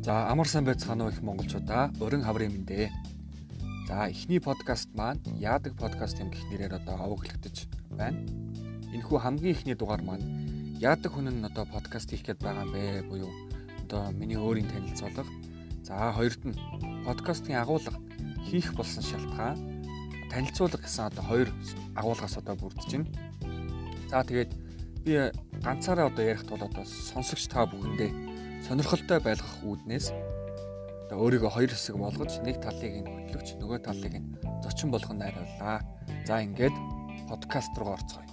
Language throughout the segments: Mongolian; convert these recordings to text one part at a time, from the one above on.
За амар сайн байцгаана уу их монголчуудаа өрн хаврын мэндэ. За эхний подкаст маань яадаг подкаст юм гэх нэрээр одоо аваглагдаж байна. Энэхүү хамгийн эхний дугаар маань яадаг хүн нь одоо подкаст хийх гээд байгаа юм бэ буюу одоо миний өөрийн танилцуулга. За хоёрд нь подкастын агуулга хийх болсон шалтгаан танилцуулга гэсэн одоо хоёр агуулгаас одоо бүрдэж байна. За тэгээд би ганцаараа одоо ярих тул одоо сонсогч та бүхэндээ сонирхолтой байлгах үүднээс одоо өөрийгөө хоёр хэсэг болгож нэг талыг нь хөтлөгч нөгөө талыг нь зочин болгох найрууллаа. За ингээд подкаст руу орцгоё.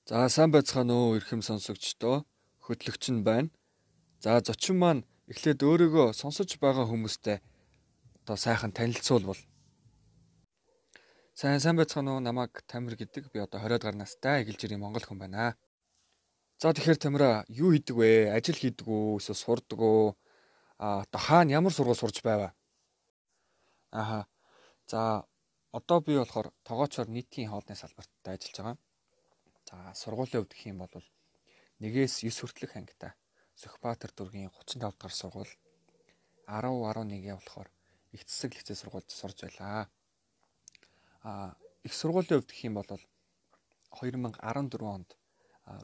За сайн байцгаана уу эрхэм сонсогчдоо, хөтлөгч нь байна. За зочин маань эхлээд өөрийгөө сонсож байгаа хүмүүстэй одоо сайхан танилцуулбал. Сайн байцгаана уу, намайг Тамир гэдэг. Би одоо 20-аад гаруй настай Эгэл жирийн монгол хүн байна. За тэгэхээр Тамира юу хийдэг вэ? Ажил хийдэг үү? Эсвэл сурдаг уу? Одоо хаана ямар сургууль сурж байваа? За одоо би болохоор тогоочоор нийтийн хоолны салбарт ажиллаж байгаа. За сургуулийн хувьд гэх юм бол 1-9 хүртэлх ангитай Сүхбаатар дүүргийн 35 дахь сургууль 10-11 болохоор их засаг лицей сургуульд сурж байлаа. Их сургуулийн хувьд гэх юм бол 2014 онд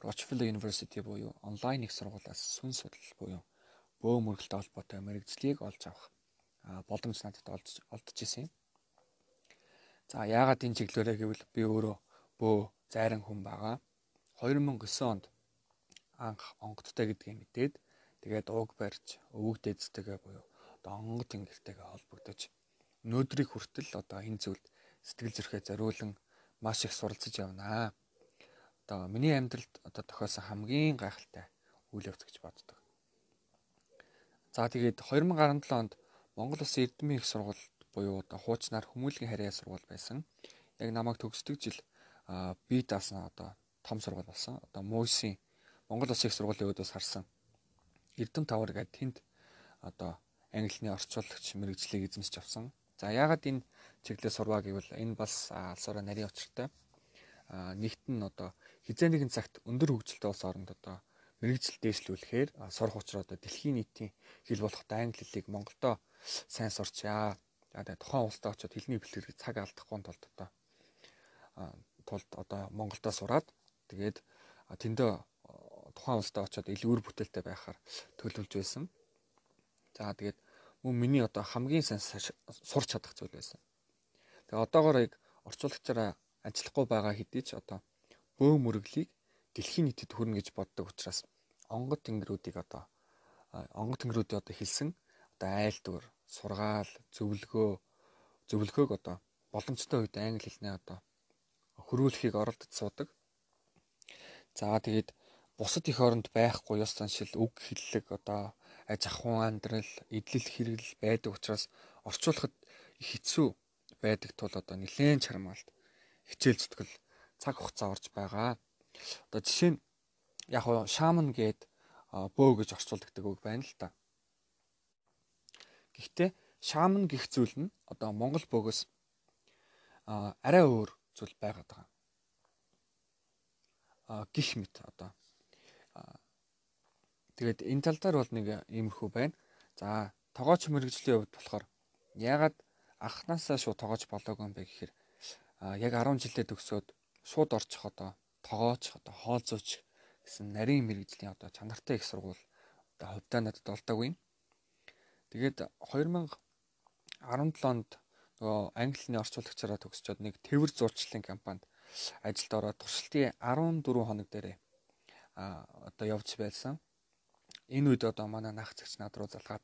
Rockefeller University буюу онлайн их сургуулиас сүн судал буюу бөө мөргөлтэй холбоотой мэрэгжлийг олж авах боломж надад олдож исэн юм. За яагаад энэ чиглэлээрээ гэвэл би өөрөө бөө зайран хүн байгаа. 2009 онд анх онгодтой гэдгийг мэдээд тэгээд ууг барьж өвөг дээдстэйгээ буюу одоо онгод тэнгэртэйгээ холбогдож өнөөдрийг хүртэл одоо энэ зүйлд сэтгэл зүрхээ зориулан маш их суралцж явнаа. Одоо миний амьдралд одоо тохиосон хамгийн гайхалтай үйл явц гэж боддог. За тэгээд 2017 онд Монгол Улсын Эрдэмийн их сургууль буюу одоо хуучнаар Хүмүүлгийн харьяа сургууль байсан. Яг намайг төгсдөг жил би даасан одоо том сургууль болсон. Одоо МУИС-ийн Монгол Улсын их сургуулийн өөдөөс харсан Эрдэм тавар гэдэг тэнд одоо англи хэлний орчуулагч мэрэгжлийг эзэмсэж авсан. За яагаад энэ чиглэлээр сурваа гэвэл энэ бас алсаараа нарийн учиртай. Нэгт нь одоо хизээ нэгэн цагт өндөр хөгжилтэй улс оронд одоо мэрэгжил дээшлүүлэхээр сурах учраа одоо дэлхийн нийтийн хэл болох англи хэлийг Монголдо сайн сурчаа. Тэгээд тухайн улсдаа очиод хэлний бэлтгэрийг цаг алдахгүй тулд одоо Монголдо сураад тэгээд тэндээ тухайн улсдаа очиод илүү үр бүтээлтэй байхаар төлөвлөж байсан. За тэгээд мөн миний одоо хамгийн сайн сурч чадах зүйл байсан. Тэгээ одоогоор яг орчуулагчаараа ажиллахгүй байгаа хэдий ч одоо бөө мөрөглийг дэлхийн нийтэд хүрнэ гэж боддог учраас онгод тэнгэрүүдийн одоо хэлсэн одоо айлтгуур, сургаал, зөвлөгөөг одоо боломжтой үед англи хэлнээ одоо хөрвүүлэхийг оролдож суудаг. За тэгээд бусад их оронд байхгүй ёс заншил, үг хэллэг одоо аж ахуйн амьдрал, эдлэл хэрэглэл байдаг учраас орчуулахад их хэцүү байдаг тул одоо нэлээд чармаалт хичээл зүтгэл цаг хугацаа орж байгаа. Одоо жишээ нь яг шаман гээд бөө гэж орчуулдаг үг байна л та. Гэхдээ шаман гэх зүйл нь одоо монгол бөөгөөс арай өөр зүйл байгаад байгаа. Гэх мэт одоо тэгээд энэ тал дээр бол нэг иймэрхүү байна. За тогооч мэрэгжлийн хувьд болохоор яагаад анхнаасаа шууд тогооч болоогүй юм бэ гэхээр яг 10 жилдээ төгсөөд шууд орчих одоо тогооч одоо хоол зүйч гэсэн нарийн мэрэгжлийн одоо чанартай их сургууль одоо хувьдаа надад олдоогүй. Тэгээд 2017 онд нөгөө англи хэлний орчуулагчаараа төгсчөөд нэг тэвэр зурчлалын компанид ажилд ороод туршилтын 14 хоног дээрээ одоо явж байсан. Энэ үед одоо манай нах зэгч над руу залгаад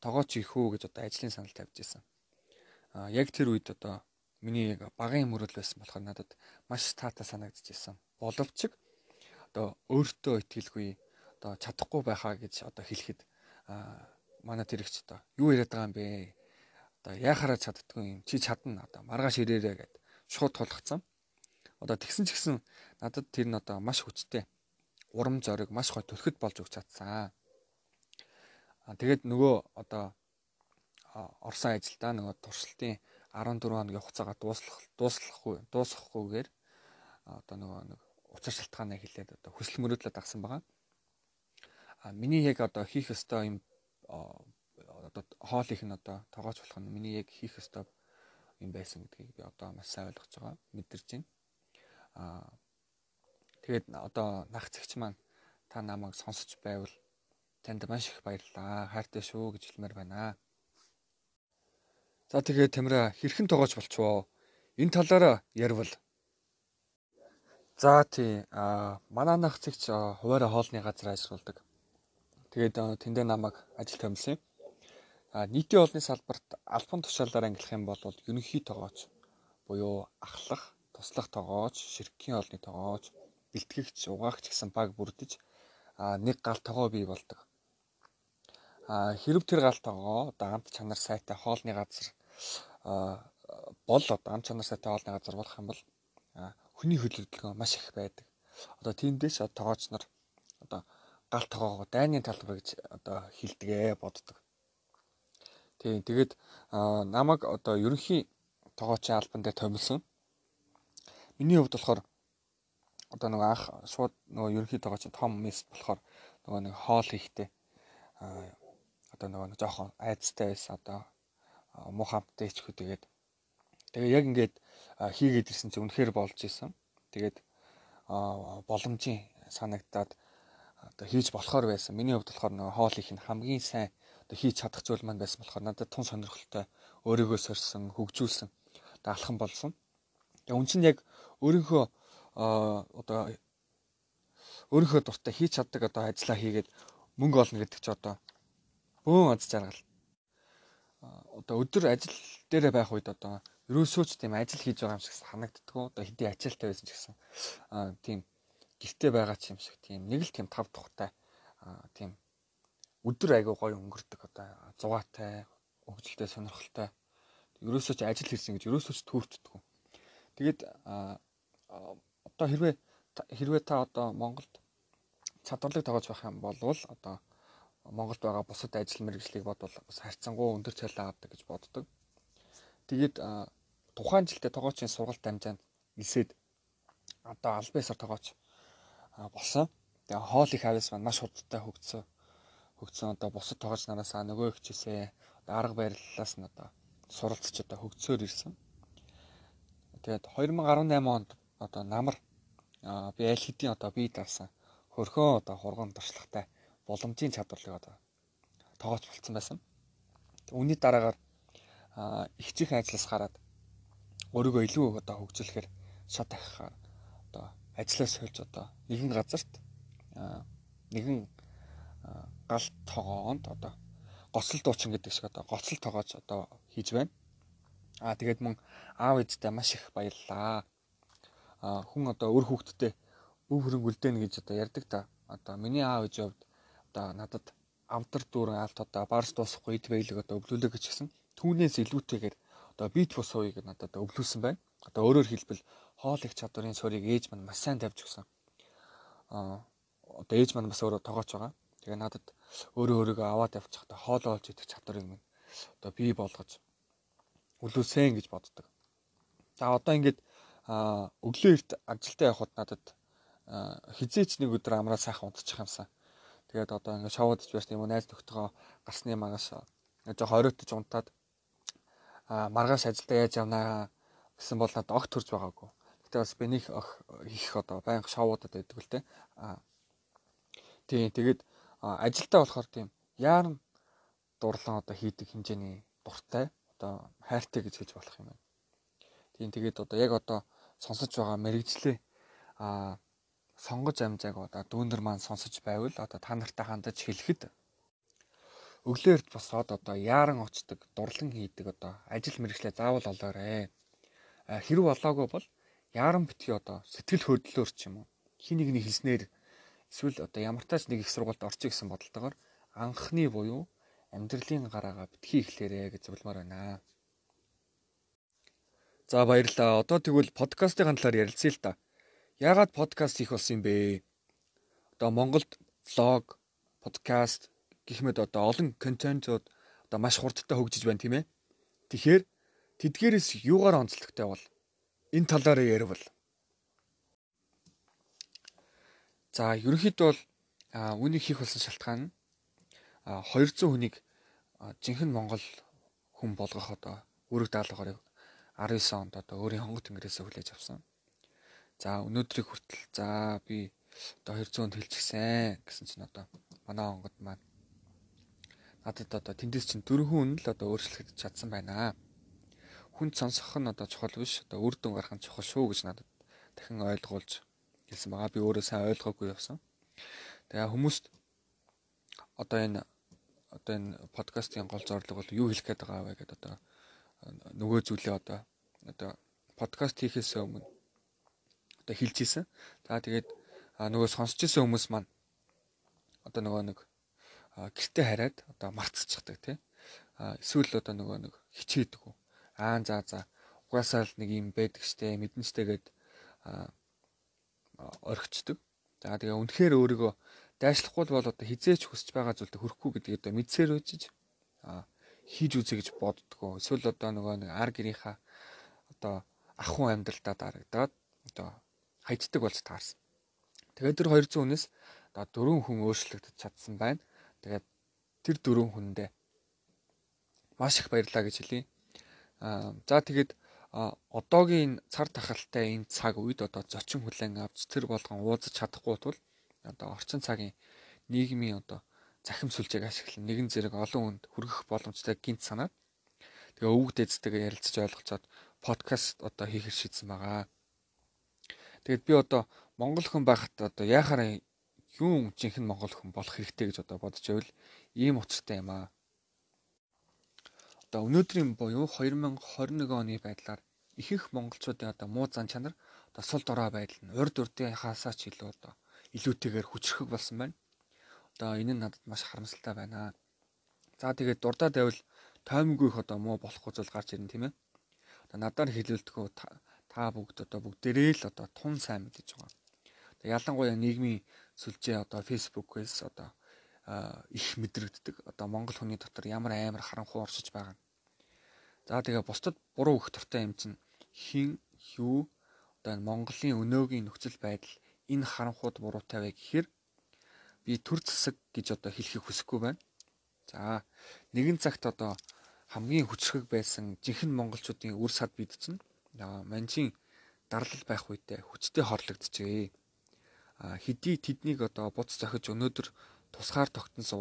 тогооч их үү гэж одоо ажлын санал тавьж ирсэн. Яг тэр үед одоо миний багын мөрөл байсан болохоор надад маш таатай санагдчихсан. Боловч одоо өөртөө итгэлгүй одоо чадахгүй байхаа гэж одоо хэлэхэд манай тэрэгч одоо юу яриад байгаа юм бэ? Одоо яахаараа чаддгүй юм. Чи чадна одоо маргааш ирээрээ гэд шууд тулгцсан. Одоо тэгсэн ч гэсэн надад тэр нь одоо маш хүчтэй. Урам зориг маш гой төлөхөд болж өгч чадсан. Тэгээд нөгөө одоо орсон ажилдаа нөгөө туршилтын 14 хоногийн хугацаагаа дуусгахгүйгээр одоо нэг учир шалтгаанаа хэлээд одоо хүсэл мөрөөдлөд авсан байгаа. Миний яг одоо хийх ёстой юм одоо хоол их нь одоо тоогооч болох нь миний яг хийх ёстой юм байсан гэдгийг би одоо маш сайн ойлгож байгаа, мэдэрч байна. Тэгээд одоо нагцэгч маань та намайг сонсож байвал танд маш их баярлалаа. Хайртай шүү гэж хэлмээр байна. За тэгээд Тамира хэрхэн тоогооч болчихвоо? Энэ талаараа ярил. За тий манай нагцэгч хуваараа хоолны газар ажилладаг. Тэгээд тэндээ намайг ажилд томилсон юм. Нийтийн хоолны салбарт албан тушаалаар ангилах юм бол ерөнхий тоогооч буюу ахлах, туслах тоогооч, ширхгийн хоолны тоогооч, бэлтгэгч, угаагч гэсэн баг бүрдэж нэг гал тоогоо бий болдог. Хэрв тэр гал тоогоо одоо амт чанар сайтай хоолны газар бол одоо амт чанар сайтай хоолны газар болох юм бол хүний хөдөлгөөн маш их байдаг. Одоо тиймдээс тоогооч нар одоо гал тоогоогоо дайны талбар гэж одоо хэлдэгэ боддог. Тэгээд намайг одоо ерөнхий тоогоочийн албан дээр томилсон. Миний хувьд болохоор одоо нэг анх шууд нөгөө ерөнхий тоогоочийн том мис болохоор нөгөө нэг хоол хийхдээ одоо нөгөө жоохон айцтай байсан одоо муу хамттай ичхүү тэгээд яг ингээд хийгээд ирсэн чинь үнэхээр болж исэн. Тэгээд боломжийн санагдаад одоо хийж болохоор байсан. Миний хувьд болохоор нөгөө хоол их нь хамгийн сайн одоо хийж чадах зүйл маань байсан болохоор надад тун сонирхолтой өөрийгөө сорьсон, хөгжүүлсэн одоо алхам болсон. Тэгээд үн чинь яг өөрийнхөө одоо өөрийнхөө дуртай хийж чаддаг одоо ажиллаа хийгээд мөнгө олно гэдэг чи одоо бөөн аз жаргал. Одоо өдөр ажил дээрээ байх үед одоо ерөөсөө ч тийм ажил хийж байгаа юм шиг санагддаггүй. Одоо хэдий ачаалтай байсан ч гэсэн тийм гэртээ байгаа ч юм шиг тийм нэг л тийм тав тухтай тийм өдөр айгүй гоё өнгөрдөг одоо зугаатай, хөгжилтэй, сонирхолтой. Ерөөсөө ч ажил хийсэн гэж ерөөсөө ч түүртдэггүй. Тэгээд одоо хэрвээ та одоо Монголд чадварлаг тоогооч байх юм бол одоо Монголд байгаа бусад ажил мэргэжлийг бодвол бас харьцангуй өндөр цалин авдаг гэж боддог. Тэгээд тухайн жилдээ тоогоочийн сургалт дамжаанд нисээд одоо аль биесээр тоогооч болсон. Тэгээ хоол их авьяас маань маш хурдтай хөгжсөн одоо бусад тоогооч нараас нөгөө хичээсээ арга бариллаас нь одоо суралцж одоо хөгжсөөр ирсэн. Тэгээд 2018 онд одоо намар би аль хэдийн одоо бие даасан хөрхөө одоо хурган туршлагатай боломжийн чадварлыг одоо тоогооч болцсон байсан. Үүний дараагаар ихжих ажлаас гараад өөрийгөө илүү одоо хөгжүүлэхээр шат ахихаар одоо ажлаас сольж одоо нэгэн газарт нэгэн гал тоогоонд одоо гоцлол дуучин гэдэг шиг одоо гоцлол тоогооч одоо хийж байна. Тэгээд мөн аав ээжтэй маш их баярлалаа. Хүн одоо өр хүүхдтэй өв хөрөнгө үлдээнэ гэж одоо ярьдаг та. Одоо миний аав ээжийн хувьд одоо надад амтар дүүрэн алт одоо барс дуусахгүй эд баялаг одоо өвлүүлээ гэж гисэн. Түүнээс илүүтэйгээр одоо бит бус хувийг надад өвлүүлсэн байна. Одоо өөрөөр хэлбэл хоол их чадварын суурийг ээж маань маш сайн тавьж өгсөн. Одоо ээж маань бас өөрөө тоогооч байгаа. Тэгээ надад өөрийгөө аваад явчих одоо хоол олж идэх чадварыг минь одоо бий болгож өвлүүлсэн гэж боддог. За одоо ингээд өглөө эрт ажилдаа явхад надад хизээч нэг өдөр амраа сайхан унтчих юмсан. Тэгээд одоо ингээд шоудж байсан юм уу найз нөхдөйгөө гарсны магаш жоохон оройтож унтаад маргааш ажилдаа яаж явнаа гэсэн бол надад огт төрж байгаагүй. Гэтэ бас би нэг их одоо байнга шоудад байдаг л те. Тийм тэгээд ажилдаа болохоор тийм яаран дурлан одоо хийдэг хэмжээний дуртай одоо хайртай гэж хэлж болох юм байна. Тийм тэгээд одоо яг одоо сонсож байгаа мэрэгжлээ сонгож амжааг одоо дүүнер маань сонсож байвал одоо та нартай хандаж хэлэхэд өглөөрт босоод одоо яаран очдог, дурлан хийдэг одоо ажил мэргэжлээ заавал олоорой. Хэрв олоогүй бол яаран битгий одоо сэтгэл хөдлөлөөр ч юм уу хин нэгний хэлснээр эсвэл одоо ямар тач нэг их сургуульд орчих гэсэн бодолтойгоор анхны буюу амьдралын гараагаа битгий эхлээрэй гэж зөвлөмөр байна. За баярлалаа. Одоо тэгвэл подкастын талаар ярилцъя л да. Яагаад подкаст хийх болсон юм бэ? Одоо Монголд влог, подкаст гэх мэт одоо олон контентууд одоо маш хурдтай хөгжиж байна тийм ээ. Тэгэхээр тэдгээрээс юугаар онцлогтой бол энэ талаараа ярил. За ерөнхийдөө бол үүнийг хийх болсон шалтгаан нь 200 хүнийг жинхэнэ Монгол хүн болгох одоо үүрэг даалгаврыг 19 онд одоо өөрийн хонгод тэнгэрээс хүлээж авсан. За өнөөдрийг хүртэл за би одоо 200 хүнд хэлчихсэн гэсэн чинь одоо манай хонгод маань надад одоо тэндээс чинь 4 хүн л одоо өөрчлөгдөж чадсан байна. Хүнд сонсох нь одоо чухал биш, одоо үр дүн гарах нь чухал шүү гэж надад дахин ойлгуулж хэлсэн байгаа. Би өөрөө сайн ойлгоогүй явсан. Тэгээ хүмүүст одоо энэ подкастын гол зорилго бол юу хэлэх гээд байгаа вэ гэдэг одоо нөгөө зүйлээ одоо подкаст хийхээс өмнө одоо хэлж ийсэн. За тэгээд нөгөө сонсч ийсэн хүмүүс маань одоо нөгөө нэг гэртээ хараад одоо мартчихдаг тий. Эсвэл одоо нөгөө нэг хичээдэг. За угаасаа л нэг юм байдаг штэ мэдэн штэ гэд орхичдаг. За тэгээ үнэхээр өөрийгөө дайшлахгүй бол одоо хизээч хүсэж байгаа зүйлд хүрэхгүй гэдгийг одоо мэдсээр үжиж хийж үзье гэж боддгоо. Эсвэл одоо нөгөө нэг ар гэрийнхаа одоо ах хүн амьдралдаа дарагдаад одоо хайцдаг болж таарсан. Тэгээд тэр 200 хүнээс одоо 4 хүн өөрчлөгдөж чадсан байна. Тэгээд тэр 4 хүндээ маш их баярлалаа гэж хэлье. За тэгээд одоогийн цар тахалтай энэ цаг үед одоо зочин хүлээн авч тэр болгон уулзах чадахгүй тул одоо орчин цагийн нийгмийн одоо захим сүлжээг ашиглан нэгэн зэрэг олон хүнд хүргэх боломжтой гинт санаад тэгээ өвөг дээдстэйгээ ярилцаж ойлголцоод подкаст одоо хийхэр шийдсэн байгаа. Тэгээд би одоо монгол хүн байхад одоо яхаар юм жинхэнэ монгол хүн болох хэрэгтэй гэж одоо бодож байвал ийм учиртай юм аа. Одоо өнөөдрийн буюу 2021 оны байдлаар ихэнх монголчуудын одоо муу зан чанар одоо сул дорой байдал нь урд урдынхаасаа ч илүү одоо илүүтэйгээр хүчрэх болсон байна. Одоо энэ нь надад маш харамсалтай байна. За тэгээд дурдаа давил тоймгүйх одоо муу болохгүй зүйл гарч ирнэ тийм ээ. Одоо надаар хэлүүлдэггүй та бүгд одоо бүгдээрээ л одоо тун сайн мэдэж байгаа. Одоо ялангуяа нийгмийн сүлжээ одоо фэйсбүүкээс одоо их мэдрэгддэг. Одоо монгол хүний дотор ямар амар харанхуй оршиж байгаа. За тэгээ бусдад буруу өгөх дуртай юм чинь хин юу одоо Монголын өнөөгийн нөхцөл байдал энэ харанхууд буруутай вэ гэхээр би төр засаг гэж одоо хэлхийг хүсэхгүй байна. За нэгэн цагт одоо хамгийн хүчрхэг байсан жинхэнэ монголчуудын үр сад бид чинь манжин дарлал байх үедээ хүчтэй хорлогдчихээ. Хэдий тэднийг одоо буц зохиж өнөөдөр тусгаар тогтносон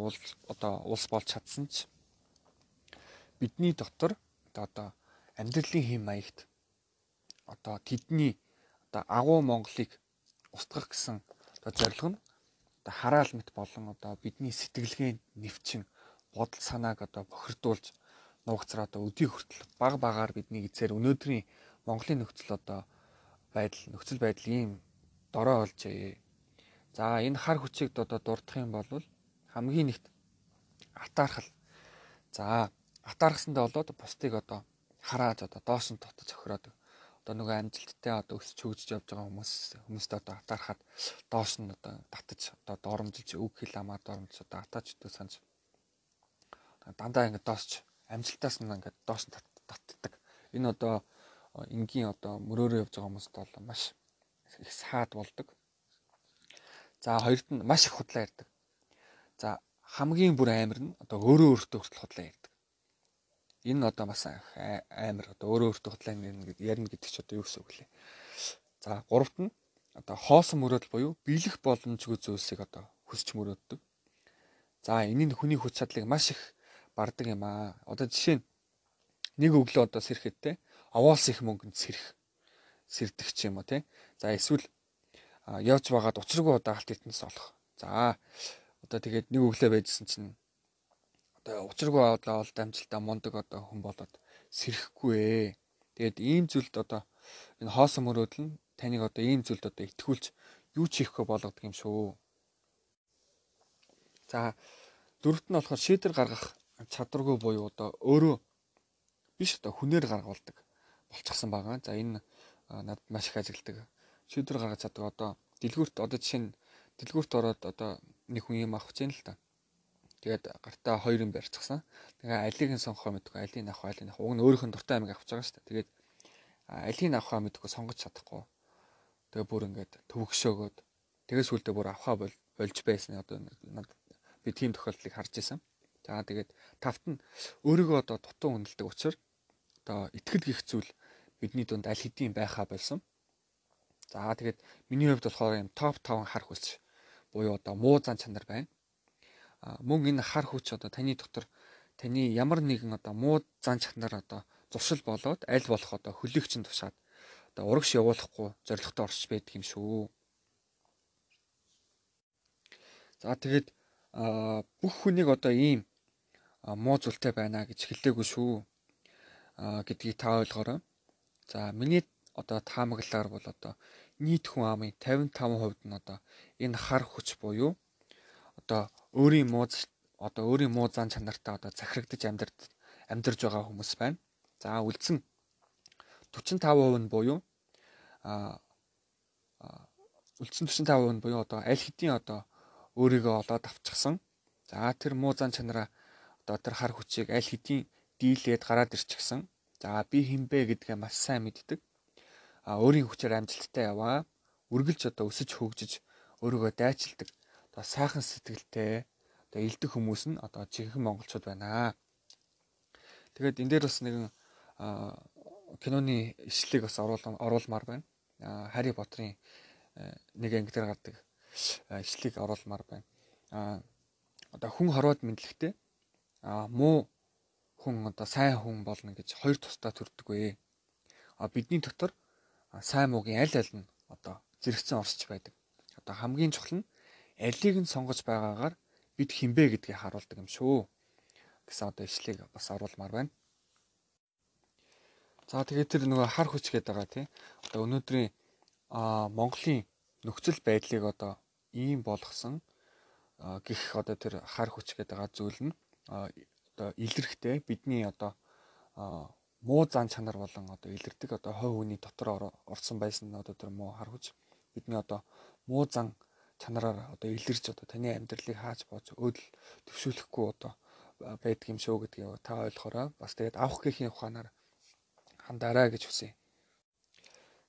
улс болж чадсан ч бидний дотор одоо амьдралын хэм маягт одоо тэдний одоо агуу Монголыг устгах гэсэн одоо зорилго нь одоо хараал мэт болон одоо бидний сэтгэлгээнд нэвчин бодол санааг одоо бохирдуулж нуугцраа одоо өдий хүртэл баг багаар бидний эзээр өнөөдрийн Монголын нөхцөл байдал ийм дорой болжээ. За энэ хар хүчийг одоо дурдах юм бол хамгийн нэгт атаархал. За атаархсандаа болоод бусдыг одоо хараад одоо доош нь дотож охироод одоо нөгөө амжилттай одоо өсч хөгжиж явж байгаа хүмүүстээ одоо атаархаад доош нь одоо татаж одоо доромжилж үг хэл амаар доромжилж одоо атаач өдөө санаж дандаа ингэ доосч амжилтаас нь ингэ доош нь татдаг. Энэ одоо энгийн одоо мөрөөрөө явж байгаа хүмүүст бол маш их саад болдог. За хоёрт нь маш их худлаа ярьдаг. За хамгийн бүр амар нь одоо өөрөө өөртөө хүртэл худлаа ярьдаг. Энэ одоо бас амар одоо өөрөө өөртөө худлаа ярина гэдэг ч одоо юу гэсэн үг лээ. За гуравт нь одоо хоосон мөрөөдөл буюу биелэх боломжгүй зүйлсийг одоо хүсч мөрөөддөг. За энэ нь хүний хүч чадлыг маш их бардаг юм аа. Одоо жишээ нь нэг өглөө одоо сэрэхэд те овоос их мөнгөнд сэрдэг ч юм уу те. За эсвэл явж байгаад учиргүй одоо алт эрдэнэс олох. За одоо тэгээд нэг өглөө байжсэн чинь одоо учиргүй одоо олд амжилтаа мундаг одоо хүн болоод сэрэхгүй ээ. Тэгээд ийм зүйлд одоо энэ хоосон мөрөөдөл нь таныг одоо ийм зүйлд одоо итгүүлж юу ч хийхгүй болгодог юм шүү. За дөрөвт нь болохоор шийдвэр гаргах чадваргүй буюу одоо өөрөө биш одоо хүнээр гаргуулдаг болчихсон байгаа. За энэ надад маш их ажигладаг. Шийдвэр гаргаж чаддаг одоо дэлгүүрт одоо жишээ нь дэлгүүрт ороод одоо нэг хүн юм авах гэж юм л та. Тэгээд гартаа хоёр юм барьчихсан. Тэгээ алийг нь сонгохоо мэдгүй, алийг нь авах, алийг нь авах. Уг нь өөрийнх нь дуртай амиг авч байгаа шүү дээ. Тэгээд алийг нь авахаа мэдгүй сонгож чадахгүй. Тэгээ бүр ингээд төвөгшөөгөөд тэгээс сүулдэ бүр авахаа болж байсан. Одоо би тийм тохиолдлыг харж байсан. За тэгээд тавт нь өөрийгөө одоо дутуу үнэлдэг учраас одоо итгэл гих зүйл бидний дунд аль хэдийн байхаа болсон. За тэгээд миний хувьд болохоор юм топ 5 хар хүч буюу одоо муу зан чанар байна. Мөн энэ хар хүч одоо таны дотор таны ямар нэгэн одоо муу зан чанар одоо зуршил болоод аль болох одоо хөлөөгчөнд тушаад одоо урагш явуулахгүй зоригтой орч байдаг юм шүү. За тэгээд бүх хүнийг одоо ийм муу зүйлтэй байна гэж хэлээгүй шүү гэдгийг та ойлгоорой. За миний одоо таамаглалаар бол одоо нийт хүн амын 55% нь одоо энэ хар хүч буюу одоо өөрийн муу зан чанартай одоо захирагдаж амьдарж байгаа хүмүүс байна. За үлдсэн 45% нь буюу одоо аль хэдийн одоо өөрийгөө олоод авчихсан. За тэр муу зан чанараа одоо тэр хар хүчийг аль хэдийн дийлээд гараад ирчихсэн. За би хинбэ гэдгээ маш сайн мэддэг. Өөрийн хүчээр амжилттай яваа. Үргэлж одоо өсөж хөгжиж өөрийгөө дайчилдаг. Одоо сайхан сэтгэлтэй одоо элдэх хүмүүс нь одоо жинхэнэ монголчууд байна. Тэгээд энэ дээр бас нэгэн киноны ишлэлийг бас оруулмаар байна. Harry Potter-ын нэг анги дээр гардаг ишлэлийг оруулмаар байна. Одоо хүн хорвоод мэдлэгтэй муу хүн одоо сайн хүн болно гэж хоёр тусдаа төрдөггүй. Бидний дотор сайн муугийн аль аль нь одоо зэрэгцэн орсч байдаг. Одоо хамгийн чухал нь алийг нь сонгож байгаагаар бид хинбэ гэдгийг харуулдаг юм шүү гэсэн одоо ишлэгийг бас оруулмаар байна. За тэгээд тэр нөгөө хар хүч гэдэг байгаа тийм. Одоо өнөөдрийн Монголын нөхцөл байдлыг одоо ийм болгосон гэх одоо тэр хар хүч гэдэг байгаа зүйл нь одоо илэрхтэй бидний одоо муу зан чанар болон одоо илэрдэг одоо хой хүний дотор орсон байсан одоо тэр муу хар хүч бидний одоо муу зан чанараар одоо илэрж одоо таны амьдралыг хааж бооч өдөл төвшүүлэхгүй одоо байдаг юм шүү гэдгийг та ойлгохороо бас тэгээд авах гэхийн ухаанаар хандаарай гэж хүсье.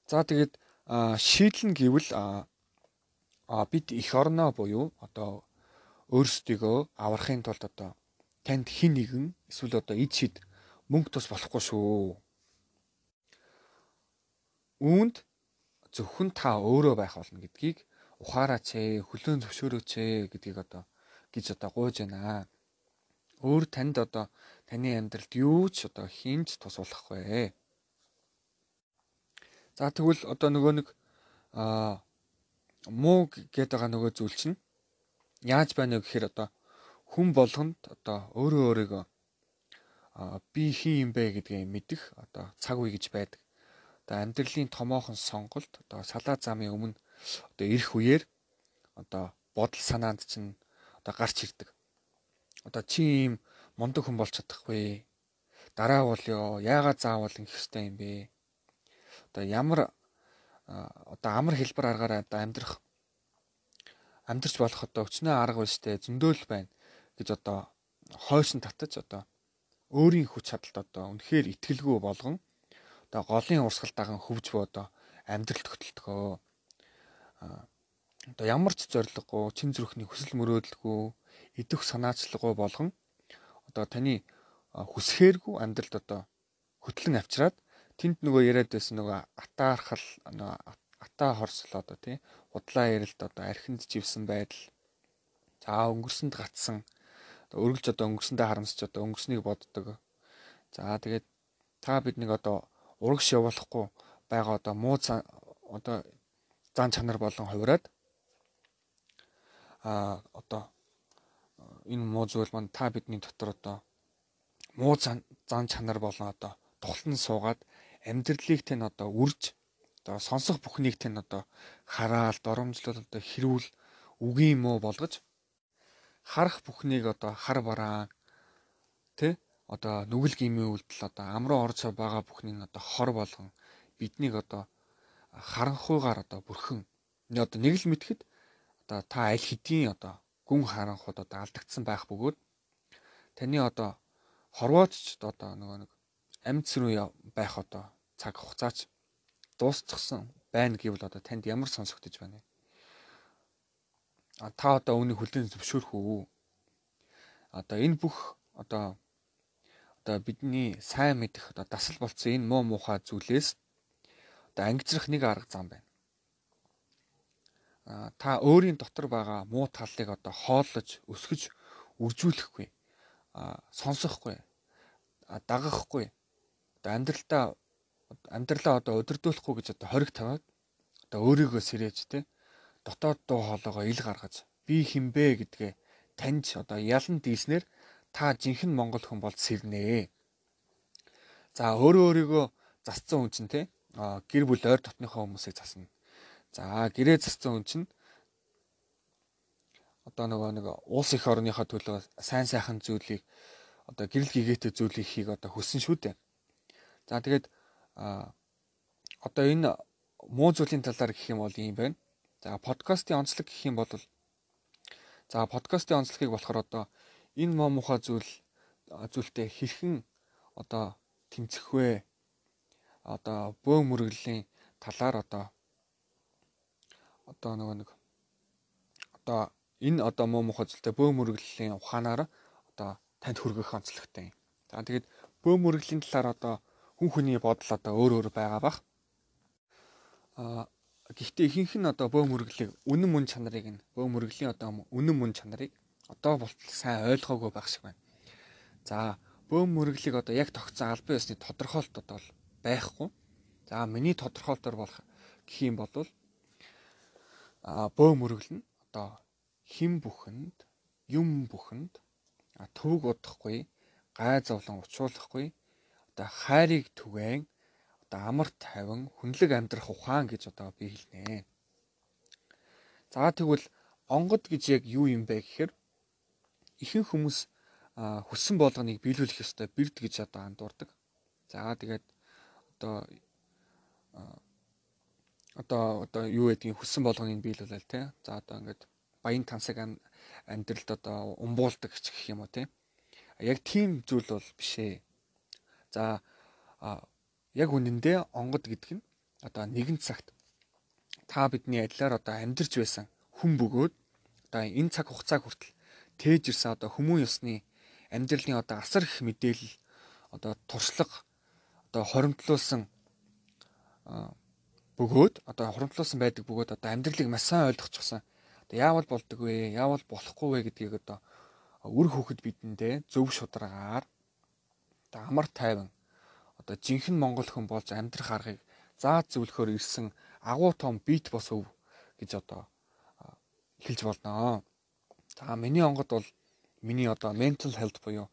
За тэгээд шийдлэн гэвэл бид эх орноо буюу одоо өөрсдийгөө аврахын тулд одоо танд хин нэгэн эсвэл одоо эд шид мөнгө тус болохгүй шүү. Үүнд зөвхөн та өөрөө байх болно гэдгийг ухаараач ээ, хөлөөн зөвшөөрөөч ээ гэдгийг одоо гэж одоо гуйж байна. Өөр танд одоо таны амьдралд юу ч одоо хинж тус болохгүй. За тэгвэл одоо нөгөө нэг муу гэдэг байгаа нөгөө зүйл чинь яаж байна вэ гэхээр одоо хүн болгонд одоо өөрийгөө би хин юм бэ гэдгийг мэдэх одоо цаг үе гэж байдаг. Одоо амьдралын томоохон сонголт одоо салаа замын өмнө одоо ирэх үеэр одоо бодол санаанд чинь одоо гарч ирдэг. Одоо чи ийм мундаг хүн болж чадахгүй. Дараа болёо яагаад заавал ингэх ёстой юм бэ? Одоо ямар одоо амар хэлбэр аргаараа одоо амьдрч болох одоо өчнөө арга биш те зөндөөл байна гэж одоо хойшин татаж одоо өөрийн хүч чадалд одоо үнэхээр итгэлгүй болгон одоо голын урсгал даган хөвж боо одоо амьдралд хөтөлдгөө. Одоо ямар ч зориггүй, чин зүрхний хүсэл мөрөөдөлгүй, идэх санаачлаггүй болгон одоо таны хүсхээргүй амьдралд одоо хөтлөн авчираад тэнд нөгөө яриад байсан нөгөө атаархал атаа хорсол одоо тий удлаа ярилд одоо архинд живсэн байдал. За өнгөрсөнд гацсан өргөлж одоо өнгөрсөндөө харамсч одоо өнгөрснийг боддог. За тэгээд та биднийг одоо урагш явуулахгүй байгаа одоо муу одоо зан чанар болон хувираад одоо энэ муу зүйл маань та бидний дотор одоо муу зан чанар болон одоо тухлан суугаад амьдралыг тань одоо үрж одоо сонсох бүхнийг тань одоо хараал доромжлол одоо хэрүүл үгийн муу болгож харах бүхнийг одоо хар бараан тэ одоо нүгэл гимийн үйлдэл одоо амруу орж байгаа бүхнийг одоо хор болгон биднийг одоо харанхуйгаар одоо бүрхэн одоо нэг л мэдхэд одоо та аль хэдийн одоо гүн харанхуйд одоо алдагдсан байх бөгөөд таны одоо хорвоодч одоо нөгөө нэг амьд сүрүү байх одоо цаг хугацаач дуусчихсан байна гэвэл одоо танд ямар сонсогдож байна вэ? та одоо үүнийг хүлээн зөвшөөрөх үү? Одоо энэ бүх одоо бидний сайн мэдэх одоо дасал болцсон энэ муу муухай зүйлээс одоо ангижрах нэг арга зам байна. Та өөрийн дотор байгаа муу талыг одоо хооллож, өсгөж, үржүүлэхгүй, сонсохгүй, дагахгүй, одоо амьдралаа одоо удирдуулахгүй гэж одоо хориг тавиад одоо өөрийгөө сэрээж дотоод дуу хоолойгоо ил гаргаж би хинбэ гэдгээ таньж одоо ялан дийснээр та жинхэнэ монгол хүн бол сэрнэ. За өөрийгөө засцсан хүн чинь гэр бүл ойр дотныхоо хүмүүсийг засна. За гэрээ засцсан хүн чинь одоо нэг улс их орныхоо төлөө сайн сайхан зүйлийг одоо гэрэл гэгээтэй зүйлийг хийх одоо хүссэн шүү дээ. За тэгээд одоо энэ муу зүйлийн талаар гэх юм бол ийм байна. За подкастын онцлог гэх юм бол подкастын онцлогийг болохоор одоо энэ муу муухай зүйлтэй хэрхэн одоо тэмцэх вэ? Одоо бөө мөргөлийн талаар одоо энэ одоо муу муухай зүйлтэй бөө мөргөлийн ухаанаар одоо танд хүргэх онцлогтой юм. За тэгээд бөө мөргөлийн талаар одоо хүн хүний бодол одоо өөр байгаа бах. Гэхдээ ихэнх нь одоо бөө мөргөлийн үнэн мөн чанарыг одоо болтол сайн ойлгоогүй байх шиг байна. За бөө мөргөлийг одоо яг тогтсон албан ёсны тодорхойлт одоо байхгүй. За миний тодорхойлтоор болох гэх юм бол бөө мөргөл нь одоо хим бүхэнд, юм бүхэнд төвөг удахгүй, гай зовлон учруулахгүй, одоо хайрыг түгээн, одоо амар тайван, хүнлэг амьдрах ухаан гэж одоо би хэлнэ. За тэгвэл онгод гэж яг юу юм бэ гэхээр ихэнх хүмүүс хүссэн болгоныг биелүүлэх ёстой бэрд гэж одоо андуурдаг. За тэгээд одоо юу гэдгийг хүссэн болгоныг биелүүлэл За одоо ингээд баян тансаг амьдралд одоо умбуулдаг гэх юм уу Яг тийм зүйл бол биш ээ. За яг үнэндээ онгод гэдэг нь одоо нэгэн цагт та бидний адилаар одоо амьдарч байсан хүн бөгөөд одоо энэ цаг хугацааг хүртэл тээж ирсэн одоо хүмүүн ёсны амьдралын одоо асар их мэдээлэл одоо туршлага одоо хоримтлуулсан байдаг бөгөөд одоо амьдралыг маш сайн ойлгочихсон. Одоо яавал болдог вэ? Яавал болохгүй вэ гэдгийг одоо үр хөхөд бидэндээ зөв шударгаар одоо амар тайван одоо жинхэнэ монгол хүн болж амьдрах аргыг зааж зөвлөхөөр ирсэн агуу том бит бос өв гэж одоо хэлж болно. За миний онгод бол миний одоо mental health буюу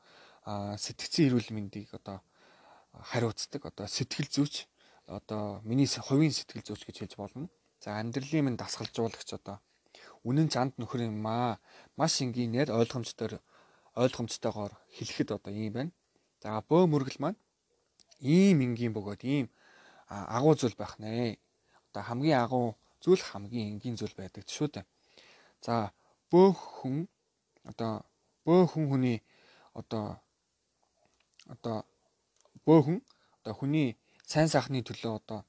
сэтгцийн эрүүл мэндийг одоо хариуцдаг одоо сэтгэл зүйч одоо миний хувийн сэтгэл зүйч гэж хэлж болно. За амьдралын минь дасгалжуулагч одоо үнэн чанд нөхөр юм маш энгийнээр ойлгомжтойгоор хэлэхэд одоо ийм байна. За бөө мөргөл маань ийм энгийн бөгөөд ийм агуу зүйл байх нэ. Одоо хамгийн агуу зүйл хамгийн энгийн зүйл байдаг шүү дээ. За бөө хүн хүний хүний сайн сайхны төлөө одоо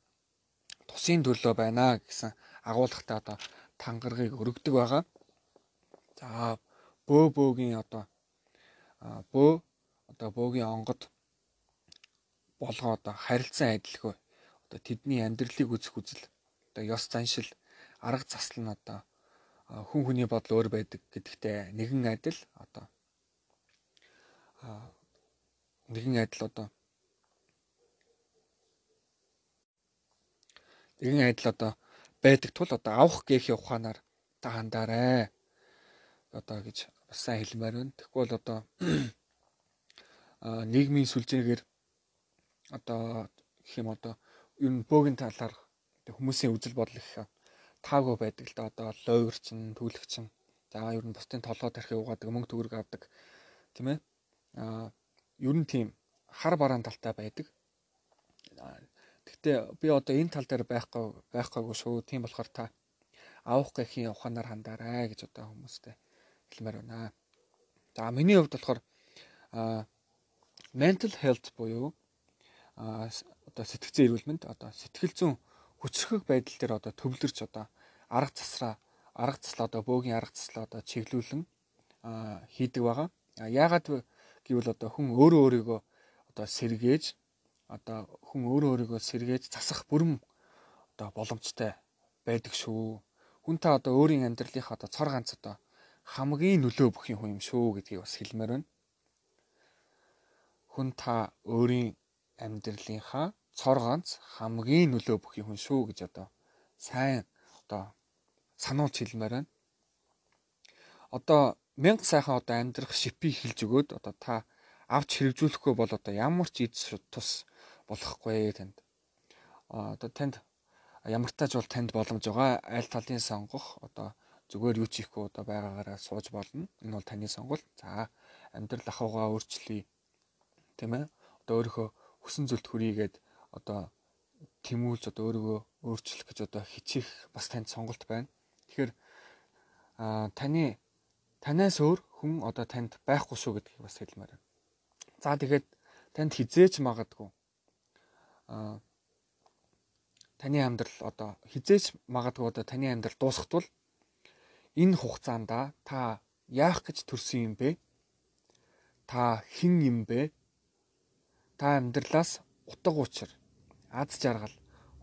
тусын төлөө байна гэсэн агуулгатай одоо тангаргийг өргөдөг байгаа. За бөөгийн бөөгийн онгод болгоо одоо харилцан адилгүй одоо тэдний амьдралыг үзэх үзэл одоо ёс заншил арга засал нь одоо хүн хүний бодол өөр байдаг гэдэгтээ нэгэн адил одоо байдаг тул одоо авах гээхийн ухаанаар та хандаарай одоо гэж бас сайн хэлмээр байна. Тэгэхгүй бол одоо нийгмийн сүлжээгээр одоо гэх юм одоо ер нь бөөгийн талаар хүмүүсийн үзэл бодол их таагүй байдаг л да. Одоо лойвэрчин, түлхчин, за ер нь бусдын толгой тархи угаадаг, мөнгө төгрөг авдаг тийм ээ. Ер нь тийм хар бараан талтай байдаг. Гэхдээ би одоо энэ тал дээр байхгүй шүү. Тийм болохоор та авах гэхийн ухаанаар хандаарай гэж одоо хүмүүстэй хэлмээр байна. За миний хувьд болохоор mental health буюу одоо сэтгцэн эрүүл мэнд одоо сэтгэл зүйн хүчрхэг байдал дээр одоо төвлөрч одоо арга засраа арга заслаа одоо бөөгийн арга заслаа одоо чиглүүлэн хийдэг байгаа. Яагаад гэвэл одоо хүн өөрөө өөрийгөө одоо сэргээж засах бүрэн одоо боломжтой байдаг шүү. Хүн та одоо өөрийн амьдралынхаа одоо цор ганц одоо хамгийн нөлөө бүхий хүн юм шүү гэдгийг бас хэлмээр байна. Хүн та өөрийн амьдралынхаа цор ганц хамгийн нөлөө бүхий хүн шүү гэж одоо сайн одоо сануулж хэлмээр байна. Одоо 1000 сайхан одоо амьдрах шипийг хэлж өгөөд одоо та авч хэрэгжүүлэхгүй бол одоо ямар ч эд тус болохгүй танд. Одоо танд ямар тач бол танд боломж байгаа. Аль талын сонгох одоо зүгээр юу ч хийхгүй одоо байгаагаараа сууж болно. Энэ бол таны сонголт. За амьдрал ахуйгаа өөрчлөе. Тийм ээ. Одоо өөрийнхөө хүсэн зүйлт хүрийгээд одоо тэмүүлж одоо өөрийгөө өөрчлөх гэж одоо хичээх бас танд сонголт байна. Тэгэхээр танаас өөр хүн одоо танд байхгүй шүү гэдгийг бас хэлмээр байна. За тэгээд танд хизээч магадгүй таны амьдрал одоо таны амьдрал дуусахдвал энэ хугацаанд та яах гэж төрсөн юм бэ? Та хэн юм бэ? Та амьдралаас утга учир, аз жаргал,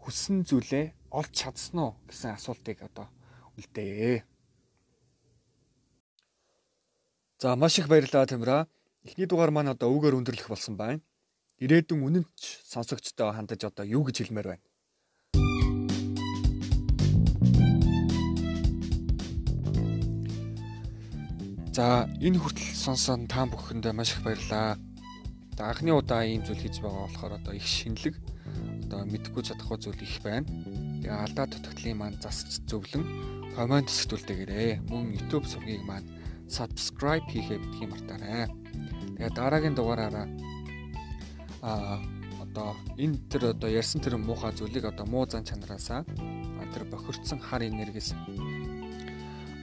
хүссэн зүйлээ олж чадсан уу гэсэн асуултыг одоо үлдээе. За маш их баярлалаа Тамира. Эхний дугаар маань одоо үгээр өндөрлөх болсон байна. Ирээдүйн үнэнч сонсогчтой хандаж одоо юу гэж хэлмээр байна? За энэ хүртэл сонсон та бүхэндээ маш их баярлалаа. За анхны удаа ийм зүйл хийж байгаа болохоор одоо их шинэлэг одоо мэдгүй чадахгүй зүйл их байна. Тэгээ алдаа дутагдлын маань засч зөвлөн комент сэтгүүлдээгээрэй. Мөн YouTube сувгийг маань subscribe хийхээ битгий мартаарай. Тэгээ дараагийн дугаараараа одоо энэ төр одоо ярьсан тэр муухай зүйлийг одоо муу зан чанараасаа тэр бохирдсан хар энергиэс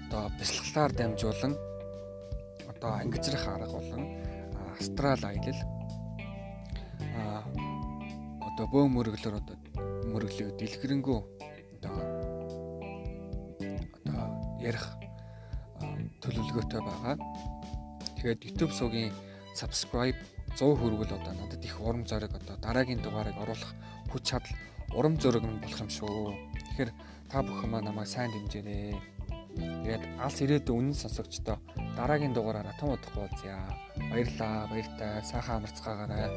одоо бясалгалаар дамжуулан одоо ангижрах арга болон астрал аялал одоо бөө мөрөглөөр одоо мөрөглөө дэлгэрэнгүй одоо ярих төлөвлөгөөтэй байгаа. Тэгээд YouTube сувгийн subscribe 100 хүрвэл одоо надад их урам зориг одоо дараагийн дугаарыг оруулах хүч чадал урам зориг нь болох юм шүү. Тэгэхээр та бүхэн маань намайг сайн дэмжээрэй. Тэгээд алс ирээдүйн үнэн сонсогчдоо дараагийн дугаараараа тун удахгүй уулзъя. Баярлалаа, баяртай, сайхан амарцгаагаарай.